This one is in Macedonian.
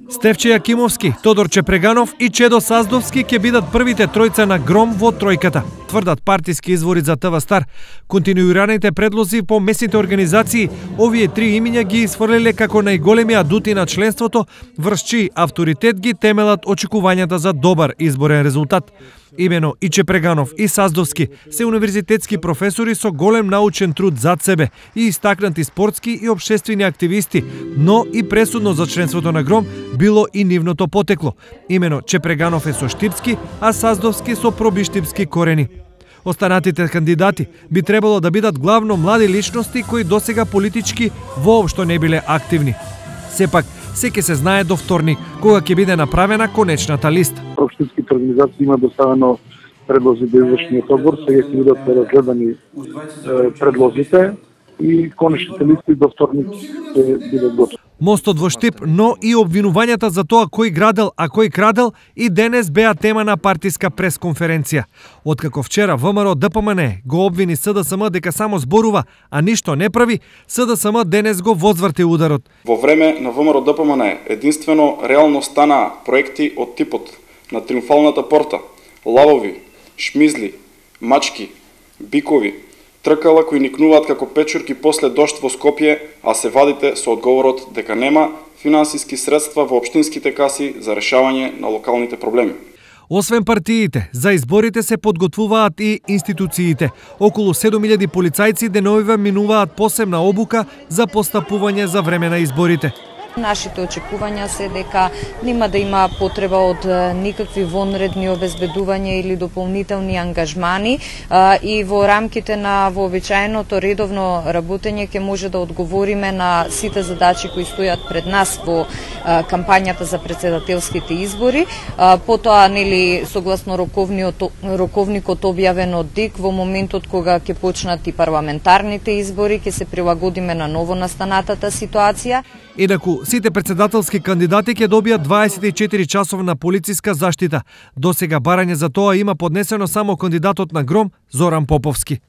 Стефче Јакимовски, Тодор Чепреганов и Чедо Саздовски ќе бидат првите тројца на гром во тројката, тврдат партиски извори за ТВ Стар. Континуираните предлози по месните организации, овие три имиња ги исфрлиле како најголеми адути на членството, врз чиј авторитет ги темелат очекувањата за добар изборен резултат. Имено и Чепреганов и Саздовски се универзитетски професори со голем научен труд зад себе и истакнати спортски и општествени активисти, но и пресудно за членството на гром било и нивното потекло. Имено Чепреганов е со штипски, а Саздовски со пробиштипски корени. Останатите кандидати би требало да бидат главно млади личности кои досега политички воопшто не биле активни. Сепак, се ќе се знае до вторник, кога ќе биде направена конечната листа. Општинските организации има доставено предлози до извршниот одбор, сега ќе бидат разгледани предлозите и конечните листи до вторник ќе бидат готови. Мостот во Штип, но и обвинувањата за тоа кој градел, а кој крадел и денес беа тема на партиска пресконференција. Откако вчера ВМРО ДПМН го обвини СДСМ дека само зборува, а ништо не прави, СДСМ денес го возврти ударот. Во време на ВМРО ДПМН единствено реално станаа проекти од типот на Триумфалната порта, лавови, шмизли, мачки, бикови, тркала кои никнуваат како печурки после дожд во Скопје, а се вадите со одговорот дека нема финансиски средства во општинските каси за решавање на локалните проблеми. Освен партиите, за изборите се подготвуваат и институциите. Околу 7000 полицајци деновива минуваат посебна обука за постапување за време на изборите. Нашите очекувања се дека нема да има потреба од никакви вонредни обезбедувања или дополнителни ангажмани и во рамките на вообичаеното редовно работење ќе може да одговориме на сите задачи кои стојат пред нас во кампањата за претседателските избори. Потоа, согласно роковникот објавен од ДИК, во моментот кога ќе почнат и парламентарните избори, ќе се прилагодиме на ново настанатата ситуација. Инаку, сите претседателски кандидати ќе добијат 24 часовна полициска заштита. Досега барање за тоа има поднесено само кандидатот на гром Зоран Поповски.